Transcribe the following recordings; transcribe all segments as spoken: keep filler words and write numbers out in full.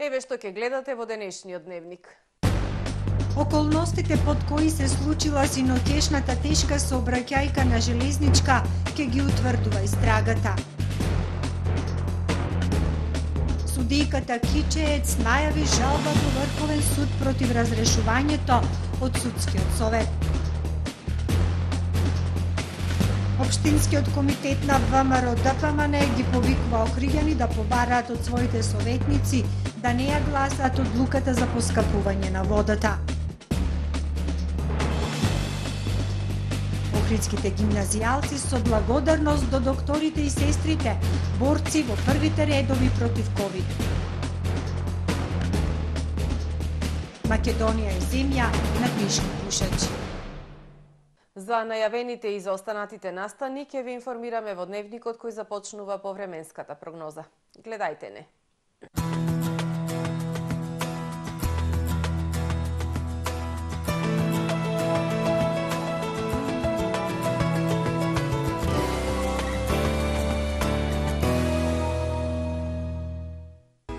Еве што ќе гледате во денешниот дневник. Околностите под кои се случила синотешната тешка сообраќајка на железничка ќе ги утврдува истрагата. Судијката Кичеец најави жалба до Врховен суд против разрешувањето од судскиот совет. Општинскиот комитет на ВМРО Д П М Н ги повикува Охриѓани да побараат од своите советници да не ја гласаат одлуката за поскапување на водата. Охридските гимназијалци со благодарност до докторите и сестрите, борци во првите редови против ковид. Македонија е земја на книжни пушачи. За најавените и заостанатите настани ќе ви информираме во дневникот кој започнува по временската прогноза. Гледајте не.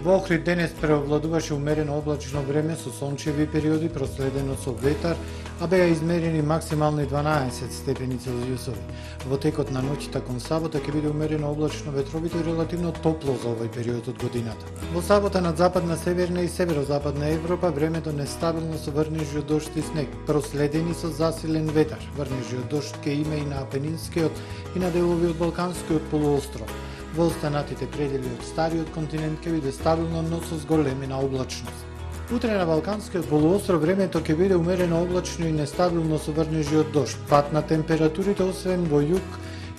Во Охрид денес преовладуваше умерено облачно време со сончеви периоди проследено со ветар, а беа измерени максимални дванаесет степени Целзиусови. Во текот на ноќта кон сабота ќе биде умерено облачно ветровито и релативно топло за овој период од годината. Во сабота над западна, северна и северозападна Европа времето нестабилно со врнежи од дожд и снег, проследени со засилен ветар. Врнежи од дожд ќе има и на Апенинскиот и на делови од Балканскиот полуостров. Во останатите предели од стариот континент ќе биде стабилно, но со зголемена облачност. Утре на Балканскиот полуостров времето ќе биде умерено облачно и нестабилно со врнежи од дожд. Пат на температурите освен во југ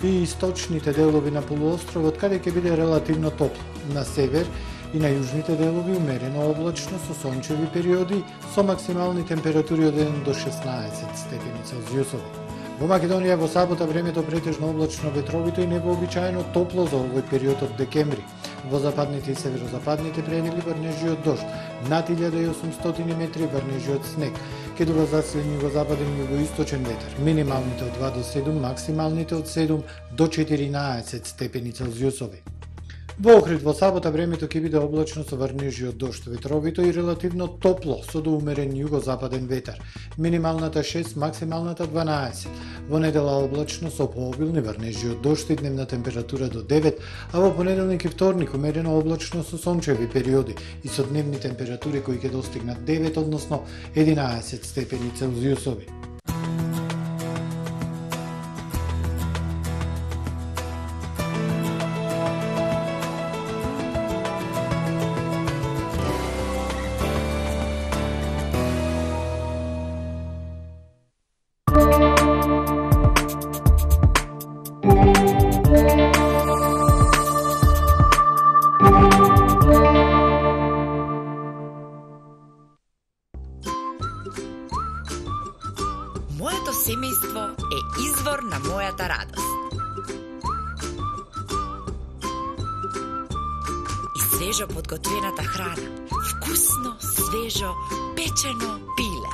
и источните делови на полуостровот каде ќе биде релативно топло. На север и на јужните делови умерено облачно со сончеви периоди со максимални температури од еден до шеснаесет степени Целзиусови. Во Македонија во сабота времето претежно облачно ветровито и невообичаено топло за овој период од декември. Во западните и северозападните предели врнежи од дожд, над илјада и осумстотини метри врнежи од снег. Ќе дува засилен југозападен и југоисточен ветер. Минималните од два до седум, максималните од седум до четиринаесет степени Целзиусови. Во Охрид во сабота времето ќе биде облачно со врнежи од дожд, ветровито и релативно топло со до умерен југозападен ветер. Минималната шест, максималната дванаесет. Во недела облачно со пообилни врнежи од дожд и дневна температура до девет, а во понеделник и вторник умерено облачно со сончеви периоди и со дневни температури кои ќе достигнат девет, односно единаесет степени Целзиусови. Моето семејство е извор на мојата радост. И свежо подготвената храна, вкусно, свежо, печено пиле.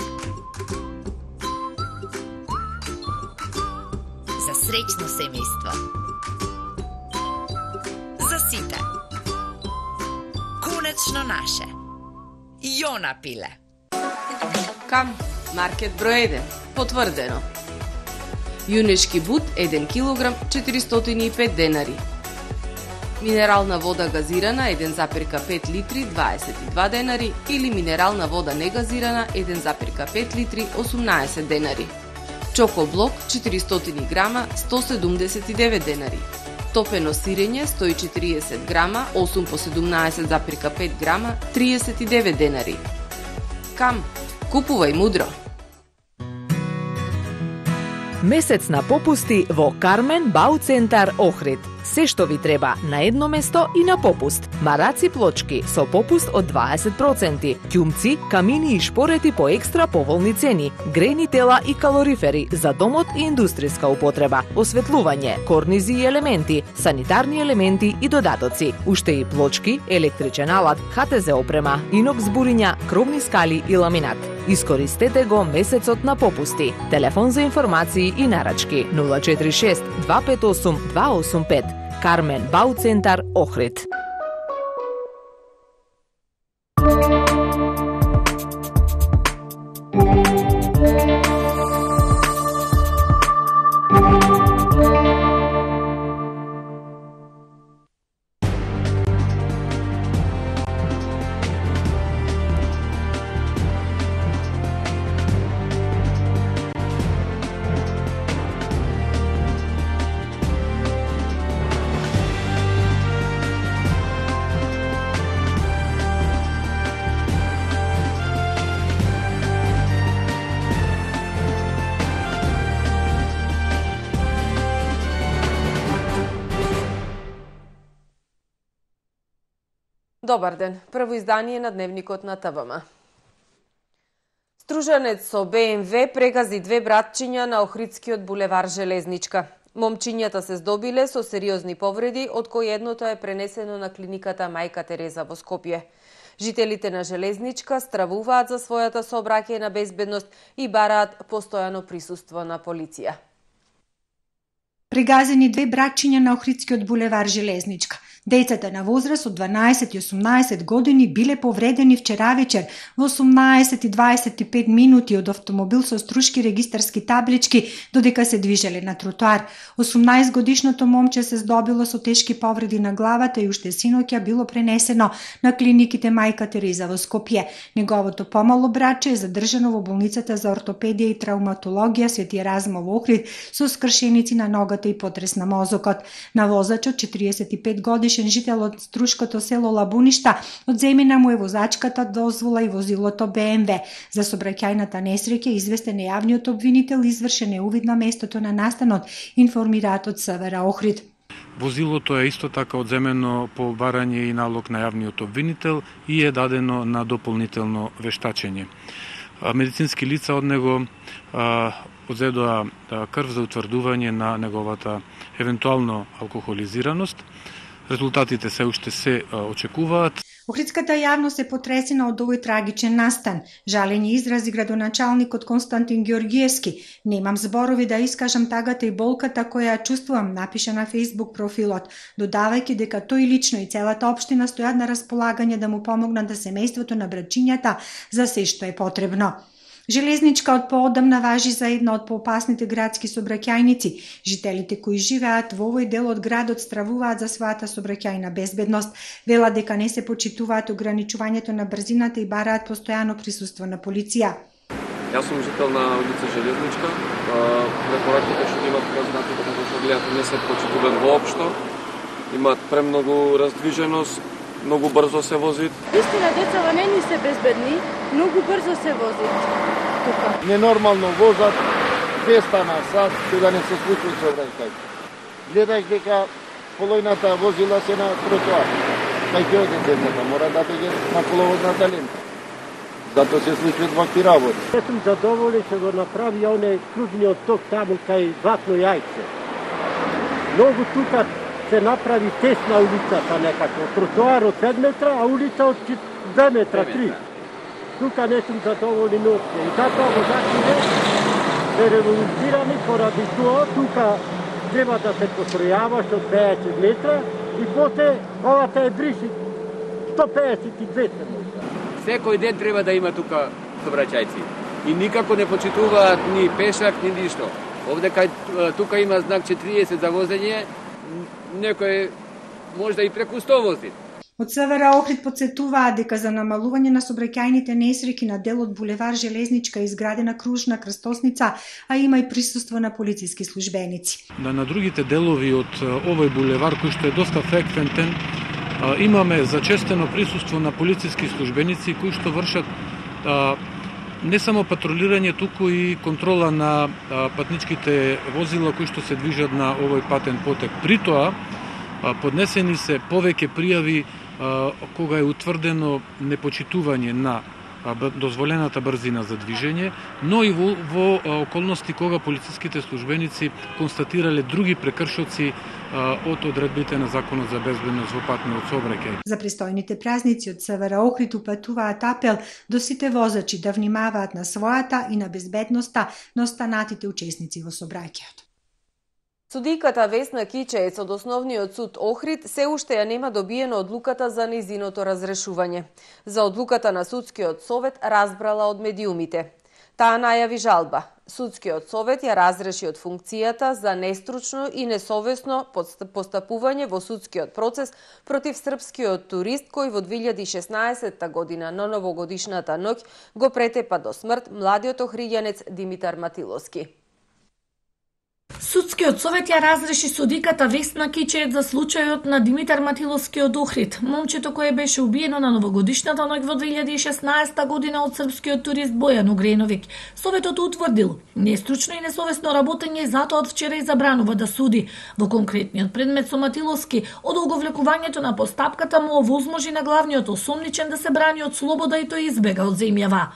За среќно семејство. За сите. Конечно наше. Јона пиле. Кам, маркет број еден, потврдено. Јунешки бут еден килограм четиристотини и пет денари. Минерална вода газирана еден запир пет литри дваесет и два денари или минерална вода негазирана еден запир пет литри осумнаесет денари. Чоко блок четиристотини грама сто седумдесет и девет денари. Топено сирење сто и четириесет грама осум по седумнаесет запир пет грама триесет и девет денари. Кам, купувај мудро. Месец на попусти во Кармен Бау Центар Охрид. Се што ви треба на едно место и на попуст. Мараци плочки со попуст од дваесет проценти, ќумци, камини и шпорети по екстра поволни цени, грејни тела и калорифери за домот и индустријска употреба, осветлување, корнизи и елементи, санитарни елементи и додатоци, уште и плочки, електричен алат, Х Т З опрема, инокс буриња, кровни скали и ламинат. Искористете го месецот на попусти. Телефон за информации и нарачки нула четири шест два пет осум два осум пет. Кармен Бау Центар Охрид. Добар ден, прво издание на Дневникот на ТВМ. Стружанец со Б М В прегази две братчиња на Охридскиот булевар Железничка. Момчињата се здобиле со сериозни повреди, од кои едното е пренесено на клиниката Мајка Тереза во Скопје. Жителите на Железничка стравуваат за својата сообраќајна безбедност и бараат постојано присуство на полиција. Прегазени две братчиња на Охридскиот булевар Железничка. Децата на возраст од дванаесет и осумнаесет години биле повредени вчера вечер во осумнаесет и дваесет и пет минути од автомобил со струшки регистарски таблички додека се движеле на тротоар. осумнаесет годишното момче се здобило со тешки повреди на главата и уште синоќа било пренесено на клиниките Мајка Тереза во Скопје. Неговото помало братче е задржано во болницата за ортопедија и травматологија Свети Еразмо во Охрид со скршеници на ногата и потрес на мозокот. На возачот, четириесет и пет годишен жител од струшкото село Лабуништа, одземена му е возачката дозвола и возилото Б М В. За сообраќајната несреќа известен е јавниот обвинител, извршен е увид на местото на настанот, информираат од С В Р Охрид. Возилото е исто така одземено по барање и налог на јавниот обвинител и е дадено на дополнително вештачење. Медицински лица од него одзедоа крв за утврдување на неговата евентуално алкохолизираност. Резултатите се уште се очекуваат. Охридската јавност е потресена од овој трагичен настан. Жалење изрази градоначалникот Константин Ѓорѓиевски. Немам зборови да искажам тагата и болката која ја чувствувам, напиша на Facebook профилот, додавајќи дека тој лично и целата општина стојат на располагање да му помогнат да семејството на братчињата за се што е потребно. Железничка од поодамна важи за една од поопасните градски сообраќајници. Жителите кои живеат во овој дел од градот стравуваат за својата сообраќајна безбедност. Велат дека не се почитуваат ограничувањето на брзината и бараат постојано присуство на полиција. Јас сум жител на улица Железничка. Препораките што имат познати како што гледате не се почитуваат воопшто. Имаат премногу раздвиженост, многу брзо се возит. Истина, децава не ни се безбедни, многу брзо се возит тука. Ненормално возат двеста на сат, да не се случи сообраќај. Гледај дека полојната возила се на тротоар. Кај ќе оде децата, мора да биде на половодната лента. Зато се случуваат вакви работи. Јас сум задоволен што го направи оне кружниот ток таму кај Златно јајце. Многу тука се направи тесна улицата некако. Тротоар од пет метра, а улица од две метра, три. Тука не сум задоволен опšte. И затоа возачите се револуцирани поради тоа. Тука треба да се постројаваш од пеесет метра и после овата е бриси сто пеесет и двеста метра. Секој ден треба да има тука сообраќајци. И никако не почитуваат ни пешак, ни ништо. Овде кај тука има знак четириесет за возење, некој може да и преку сто вози. Од С В Р Охрид подсетуваат дека за намалување на сообраќајните несреќи на делот булевар Железничка е изградена кружна крстосница, а има и присуство на полициски службеници. На, на другите делови од овој булевар, кој што е доста фреквентен, имаме зачестено присуство на полициски службеници кои што вршат а, не само патрулирање, туку и контрола на а, патничките возила кои што се движат на овој патен потек. При тоа а, поднесени се повеќе пријави а, кога е утврдено непочитување на дозволената брзина за движење, но и во, во околности кога полициските службеници констатирале други прекршоци а, од одредбите на Законот за безбедност во патниот сообраќај. За престојните празници од С В Р Охрид упатуваат апел до сите возачи да внимаваат на својата и на безбедноста на останатите учесници во сообраќајот. Судиката Весна Кичеец од Основниот суд Охрид се уште ја нема добиена одлуката за нејзиното разрешување. За одлуката на Судскиот совет разбрала од медиумите. Таа најави жалба. Судскиот совет ја разреши од функцијата за нестручно и несовесно постапување во судскиот процес против српскиот турист кој во две илјади и шеснаесетта година на новогодишната ноќ го претепа до смрт младиот охриѓанец Димитар Матиловски. Судскиот совет ја разреши судиката Весна Кичеец за случајот на Димитар Матиловски од Охрид, момчето кое беше убиено на новогодишната ноќ во две илјади и шеснаесетта година од српскиот турист Бојан Угреновиќ. Советот утврдил нестручно и несовесно работење, затоа од вчера и забранува да суди. Во конкретниот предмет со Матиловски, одолговлекувањето на постапката му овозможи на главниот осомничен да се брани од слобода и тој избега од земјава.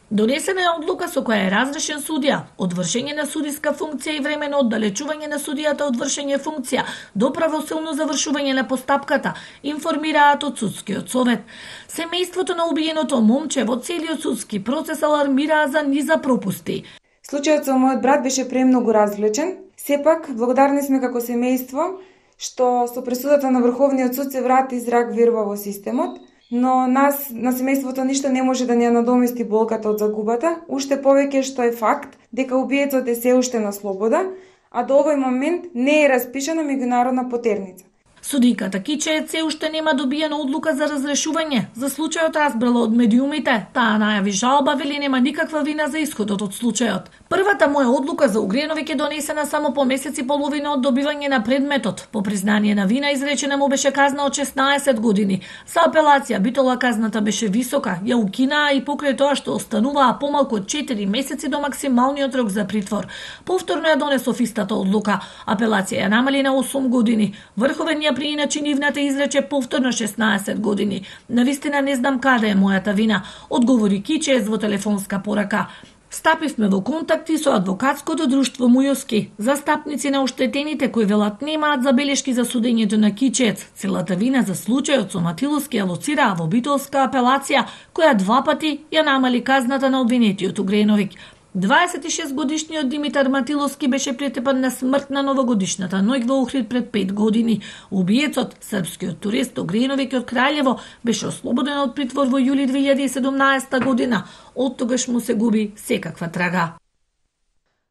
Донесена е одлука со која е разрешен судија од вршење на судиска функција и времено оддалечување на судијата од вршење функција до правосилно завршување на постапката, информираат од Судскиот совет. Семејството на убиеното момче во целиот судски процес алармираа за низа пропусти. Случајот со мојот брат беше премногу развлечен. Сепак, благодарни сме како семејство што со пресудата на Врховниот суд се врати зрак верба во системот. Но нас, на семејството, ништо не може да ни ја надомести болката од загубата, уште повеќе што е факт дека убиецот е се уште на слобода, а до овој момент не е распишана меѓународна потерница. Судиката Кичеец се уште нема добиена одлука за разрешување. За случајот разбрала од медиумите, таа најави жалба, вели нема никаква вина за исходот од случајот. Првата моја одлука за Угреновиќ е донесена само по месец и половина од добивање на предметот. По признание на вина изречена му беше казна од шеснаесет години. За апелација битола казната беше висока, ја укинаа и покрај тоа што остануваа помалку од четири месеци до максималниот рок за притвор. Повторно ја донесов истата одлука. Апелација ја намали на осум години. Врховен ја прииначи нивната изрече повторно шеснаесет години. Навистина не знам каде е мојата вина, одговори Кичеец во телефонска порака. Стапивме во контакти со адвокатското друштво Мујоски, застапници на оштетените кои велат немаат забелешки за судењето на Кичеец. Целата вина за случајот со Матиловски ја лоцираа во битолска апелација, која два пати ја намали казната на обвинетиот Угреновиќ. дваесет и шест годишниот Димитар Матиловски беше претепан на смрт на новогодишната ноќ во Охрид пред пет години. Убиецот, српскиот турист Угреновиќ од Краљево, беше ослободен од притвор во јули две илјади и седумнаесетта година. Од тогаш му се губи секаква трага.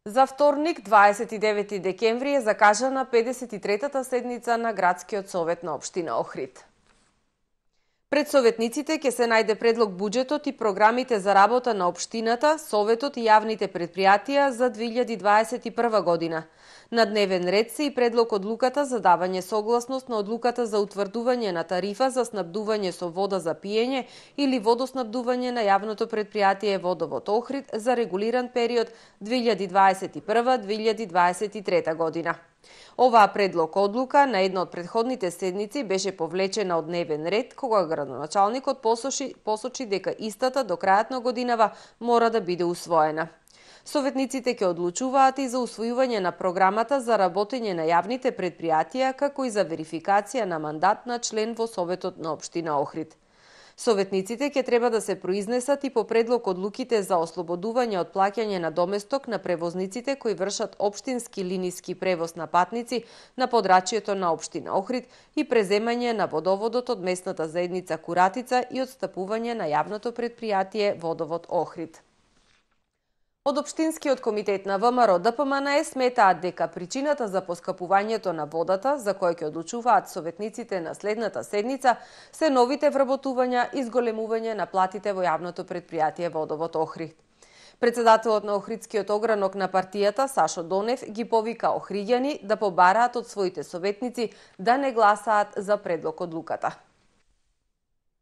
За вторник, дваесет и девети декември, е закажана педесет и третата седница на Градскиот совет на општина Охрид. Пред советниците ќе се најде предлог буџетот и програмите за работа на општината, советот и јавните предпријатија за две илјади дваесет и прва година. На дневен ред се и предлог одлуката за давање согласност на одлуката за утврдување на тарифа за снабдување со вода за пиење или водоснабдување на јавното предпријатие Водовод Охрид за регулиран период две илјади дваесет и прва до две илјади дваесет и трета година. Оваа предлог одлука на една од предходните седници беше повлечена од дневен ред, кога градоначалникот посочи, посочи дека истата до крајот на годинава мора да биде усвоена. Советниците ќе одлучуваат и за усвојување на програмата за работење на јавните предпријатија, како и за верификација на мандат на член во Советот на општина Охрид. Советниците ќе треба да се произнесат и по предлог одлуките за ослободување од плаќање на доместок на превозниците кои вршат општински линиски превоз на патници на подрачјето на општина Охрид и преземање на водоводот од местната заедница Куратица и отстапување на јавното предпријатие Водовод Охрид. Од Општинскиот комитет на ВМРО Д П М Н Е сметаат дека причината за поскапувањето на водата, за кој ќе одлучуваат советниците на следната седница, се новите вработувања и зголемување на платите во јавното предпријатие Водовод Охрид. Председателот на Охридскиот огранок на партијата Сашо Донев ги повика охриѓани да побараат од своите советници да не гласаат за предлог одлуката.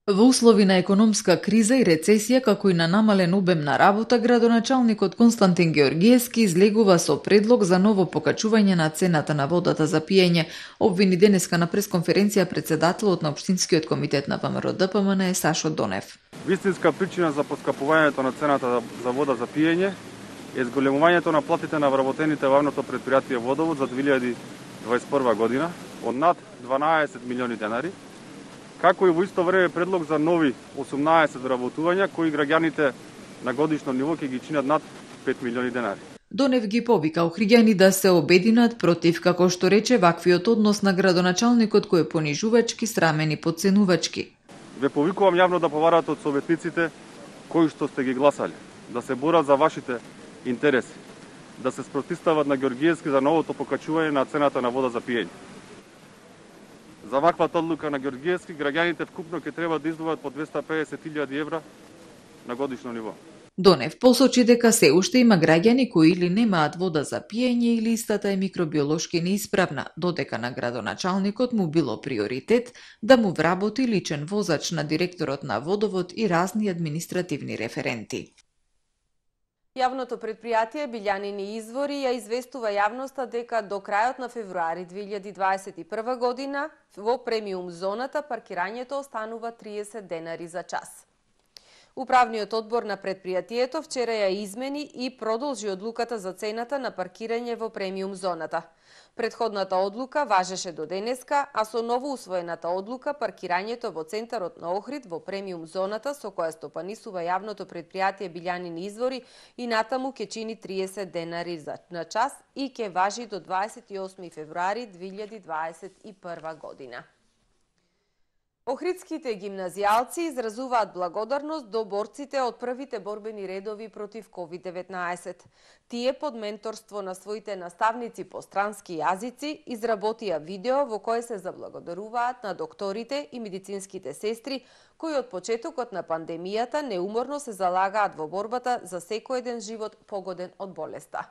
Во услови на економска криза и рецесија, како и на намален обем на работа, градоначалникот Константин Георгиевски излегува со предлог за ново покачување на цената на водата за пиење, обвини денеска на пресконференција председателот на Општинскиот комитет на ВМРО Д П М Н Е Сашо Донев. Вистинска причина за поскапувањето на цената за вода за пиење е зголемувањето на платите на вработените во јавното предпријатие Водовод за две илјади дваесет и прва година од над дванаесет милиони денари, како и во исто време предлог за нови осумнаесет вработувања кои граѓаните на годишно ниво ќе ги чинат над пет милиони денари. Донев ги повика охриѓани да се обединат против, како што рече, ваквиот однос на градоначалникот кој е понижувачки, срамен и подценувачки. Ве повикувам јавно да поварате од советниците кои што сте ги гласали, да се борат за вашите интереси, да се спротистават на Ѓоргиевски за новото покачување на цената на вода за пиење. За ваквата одлука на Ѓоргиевски, граѓаните вкупно ќе треба да издвојат по двеста и педесет илјади евра на годишно ниво. Донев посочи дека се уште има граѓани кои или немаат вода за пиење или истата е микробиолошки неисправна, додека на градоначалникот му било приоритет да му вработи личен возач на директорот на водовод и разни административни референти. Јавното предпријатие Билјанини извори ја известува јавноста дека до крајот на февруари две илјади дваесет и прва година во премиум зоната паркирањето останува триесет денари за час. Управниот одбор на предпријатието вчера ја измени и продолжи одлуката за цената на паркирање во премиум зоната. Предходната одлука важеше до денеска, а со ново усвоената одлука паркирањето во центарот на Охрид во премиум зоната со која стопанисува јавното предпријатие Билјанини извори и натаму ќе чини триесет денари на час и ќе важи до дваесет и осми февруари две илјади дваесет и прва година. Охридските гимназијалци изразуваат благодарност до борците од првите борбени редови против ковид деветнаесет. Тие под менторство на своите наставници по странски јазици изработија видео во кое се заблагодаруваат на докторите и медицинските сестри кои од почетокот на пандемијата неуморно се залагаат во борбата за секој еден живот погоден од болеста.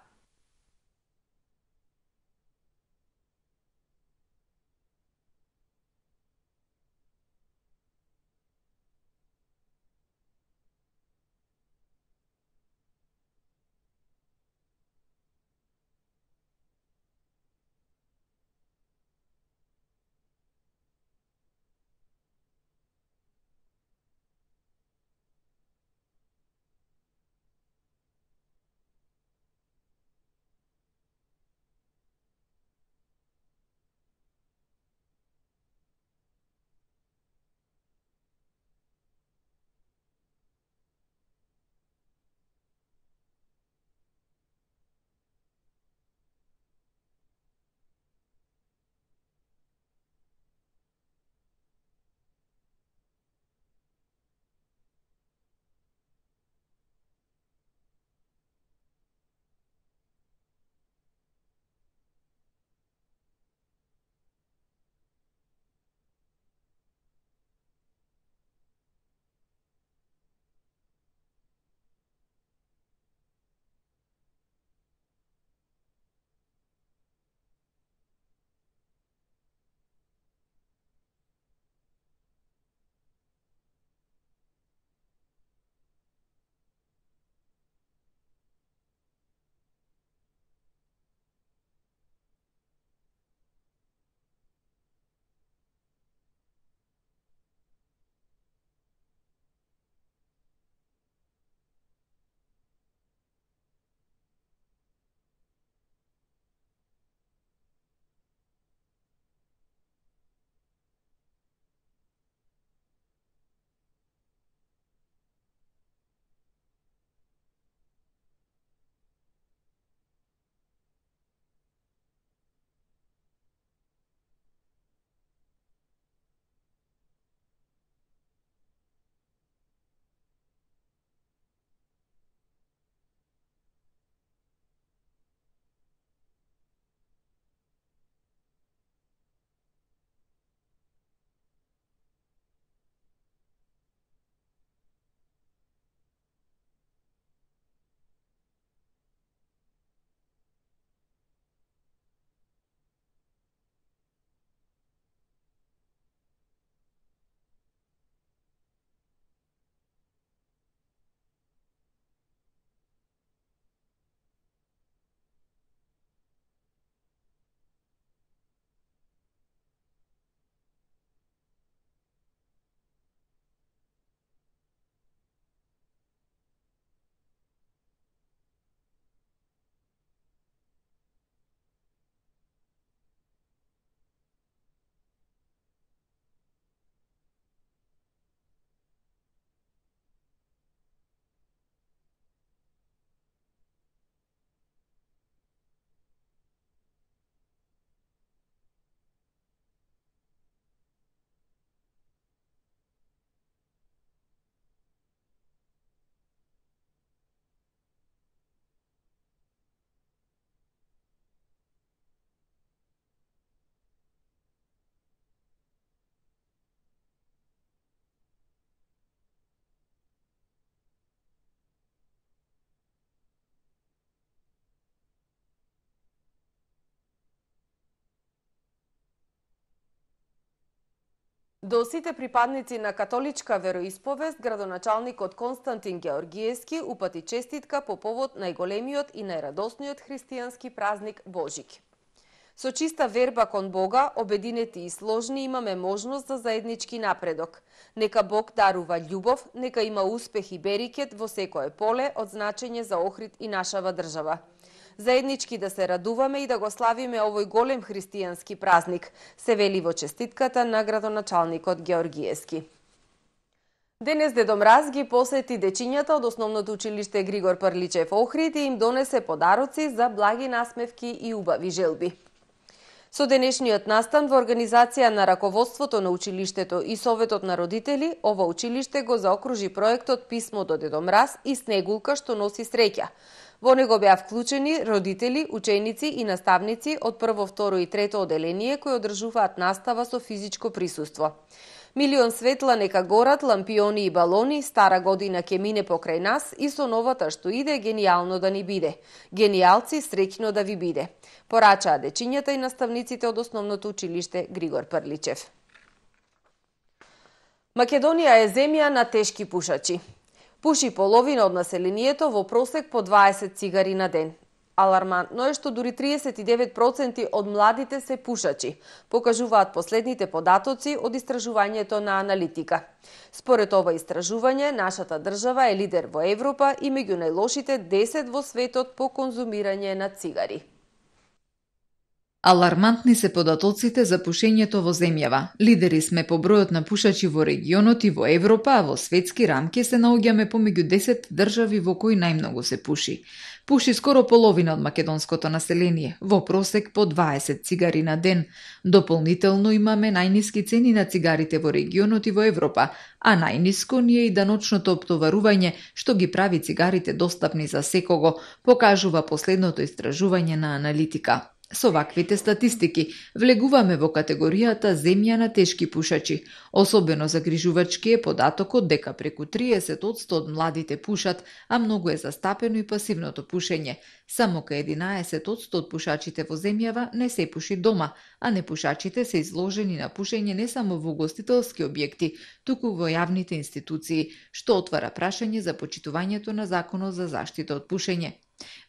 До сите припадници на католичка вероисповест, градоначалникот Константин Георгиевски упати честитка по повод најголемиот и најрадосниот христијански празник Божик. Со чиста верба кон Бога, обединети и сложни, имаме можност за заеднички напредок. Нека Бог дарува љубов, нека има успех и берикет во секое поле од значење за Охрид и нашава држава. Заеднички да се радуваме и да го славиме овој голем христијански празник, се вели во честитката на градоначалникот Георгиевски. Денес Дедо Мраз ги посети дечињата од основното училиште Григор Прличев Охрид и им донесе подароци за благи насмевки и убави желби. Со денешниот настан во организација на раководството на училиштето и Советот на родители, ова училиште го заокружи проектот Писмо до Дедо Мраз и снегулка што носи среќа. Во него беа вклучени родители, ученици и наставници од прво, второ и трето оделение кои одржуваат настава со физичко присуство. Милион светла нека горат, лампиони и балони, стара година ќе мине покрај нас и со новата што иде генијално да ни биде. Генијалци, среќно да ви биде. Порачаа дечињата и наставниците од основното училиште Григор Прличев. Македонија е земја на тешки пушачи. Пуши половина од населението во просек по дваесет цигари на ден. Алармантно е што дури триесет и девет проценти од младите се пушачи, покажуваат последните податоци од истражувањето на аналитика. Според ова истражување, нашата држава е лидер во Европа и меѓу најлошите десет во светот по конзумирање на цигари. Алармантни се податоците за пушењето во земјава. Лидери сме по бројот на пушачи во регионот и во Европа, а во светски рамки се наоѓаме помеѓу десет држави во кои најмногу се пуши. Пуши скоро половина од македонското население, во просек по дваесет цигари на ден. Дополнително имаме најниски цени на цигарите во регионот и во Европа, а најниско ни е и даночното оптоварување што ги прави цигарите достапни за секого, покажува последното истражување на аналитика. Со ваквите статистики влегуваме во категоријата земја на тешки пушачи. Особено загрижувачки е податокот дека преку триесет одсто од младите пушат, а многу е застапено и пасивното пушење. Само кај единаесет одсто од пушачите во земјава не се пуши дома, а непушачите се изложени на пушење не само во угостителски објекти, туку во јавните институции, што отвара прашање за почитувањето на законот за заштита од пушење.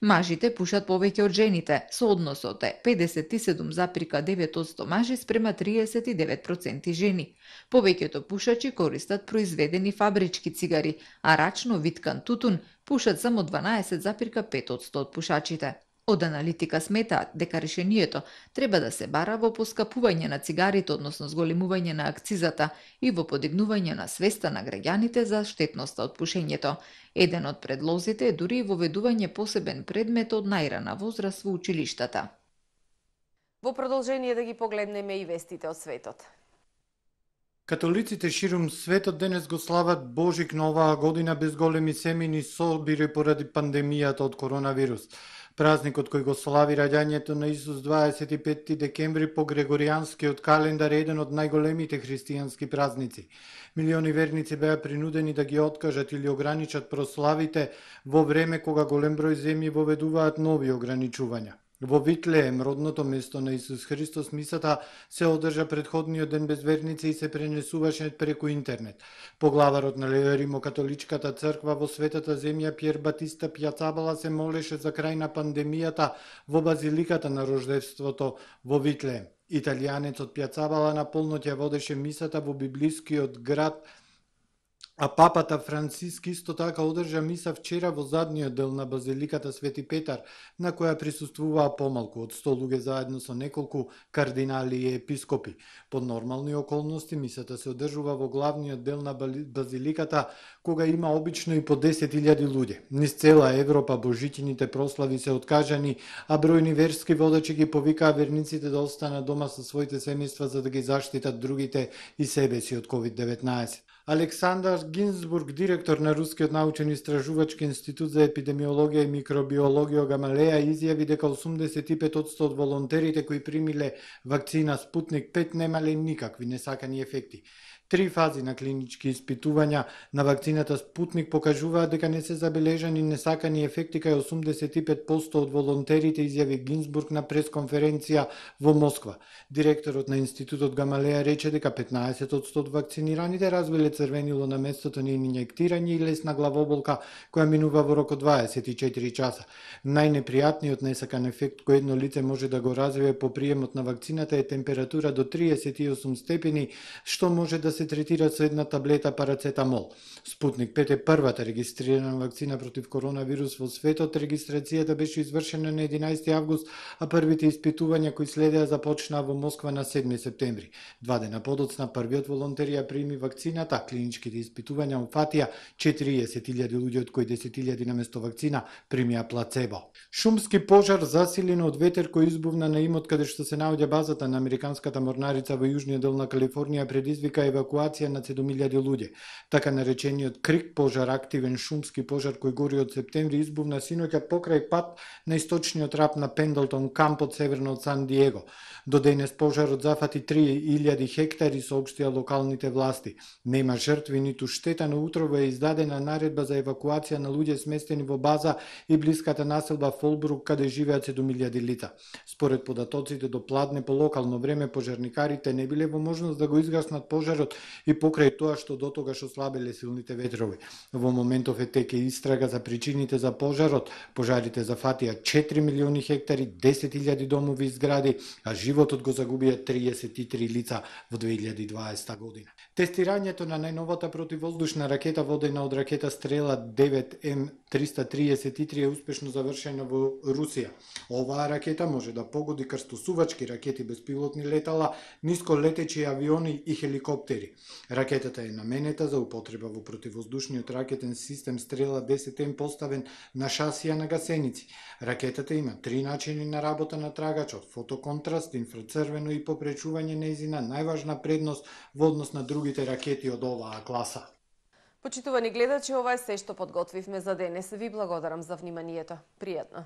Мажите пушат повеќе од жените, со односот е педесет и седум запирка девет одсто мажи спрема триесет и девет проценти жени. Повеќето пушачи користат произведени фабрички цигари, а рачно виткан тутун пушат само дванаесет запирка пет одсто од пушачите. Од аналитика сметаат дека решението треба да се бара во поскапување на цигарите, односно зголемување на акцизата и во подигнување на свеста на граѓаните за штетноста од пушењето. Еден од предлозите е дури и воведување посебен предмет од најрана возраст во училиштата. Во продолжение да ги погледнеме и вестите од светот. Католиците ширум светот денес го слават Божик на оваа година без големи семејни собири поради пандемијата од коронавирус. Празникот кој го слави раѓањето на Исус дваесет и петти декември по грегоријанскиот календар е еден од најголемите христијански празници. Милиони верници беа принудени да ги откажат или ограничат прославите во време кога голем број земји воведуваат нови ограничувања. Во Витлеем, родното место на Исус Христос, мисата се одржа предходниот ден без верници и се пренесуваше преку интернет. Поглаварот на Римокатоличката црква во светата земја Пјер Батиста Пјацабала се молеше за крај на пандемијата во базиликата на Рождеството во Витлеем. Италијанецот Пјацабала на полноќ водеше мисата во библискиот град, а папата Франциск исто така одржа миса вчера во задниот дел на базиликата Свети Петар, на која присуствуваа помалку од сто луѓе заедно со неколку кардинали и епископи. Под нормални околности мисата се одржува во главниот дел на базиликата, кога има обично и по десет илјади луѓе. Низ цела Европа божитините прослави се откажани, а бројни верски водачи ги повикаа верниците да останат дома со своите семејства за да ги заштитат другите и себе си од ковид деветнаесет. Александар Гинзбург, директор на Рускиот научен истражувачки институт за епидемиологија и микробиологија Гамалеја, изјави дека осумдесет и пет одсто од волонтерите кои примиле вакцина Спутник пет немале никакви несакани ефекти. Три фази на клинички испитувања на вакцината Спутник покажуваат дека не се забележани несакани ефекти кај осумдесет и пет проценти од волонтерите, изјави Гинзбург на пресконференција во Москва. Директорот на Институтот Гамалеја рече дека петнаесет проценти од вакцинираните развиле црвенило на местото на инјектирање и лесна главоболка која минува во рок од дваесет и четири часа. Најнепријатниот несакан ефект кој едно лице може да го развие по приемот на вакцината е температура до триесет и осум степени, што може да се третира со една таблета парацетамол. Спутник пет е првата регистрирана вакцина против коронавирус во светот. Регистрацијата беше извршена на единаесети август, а првите испитувања кои следеа започнаа во Москва на седми септември. Два дена подоцна првиот волонтер ја прими вакцината, а клиничките испитувања упфатија четириесет илјади луѓе, од кои десет илјади наместо вакцина примија плацебо. Шумски пожар засилен од ветер кој избувна на имот каде што се наоѓа базата на американската морнарица во јужниот дел на Калифорнија предизвика евакуација на седум илјади луѓе. Така наречениот крик пожар, активен шумски пожар кој гори од септември, избувна синоќа покрај пат на источниот рап на Пендлтон кампот северно од Сан Диего. До денес пожарот зафати три илјади хектари, соопштија локалните власти. Нема жртви ниту штета, но утрово е издадена наредба за евакуација на луѓе сместени во база и блиската населба Фолбрук, каде живеат седум илјади лица. Според податоците до пладне по локално време, пожарникарите не биле во можност да го изгаснат пожарот и покрај тоа што дотогаш ослабеле силните ветрови. Во моментов е теке истрага за причините за пожарот. Пожарите зафатија четири милиони хектари, десет илјади домови и згради, а животот го загубија триесет и три лица во две илјади и дваесета година. Тестирањето на најновата противвоздушна ракета водена од ракета Стрела девет М триста триесет и три е успешно завршена во Русија. Оваа ракета може да погоди крстосувачки ракети, безпилотни летала, нисколетечи авиони и хеликоптери. Ракетата е наменета за употреба во противвоздушниот ракетен систем Стрела десет М поставен на шасија на гасеници. Ракетата има три начини на работа на трагачот: фотоконтраст, инфрацрвено и попречување. Нејзина најважна предност во однос на другите ракети од оваа класа. Почитувани гледачи, ова е се што подготвивме за денес. Ви благодарам за вниманието. Пријатно.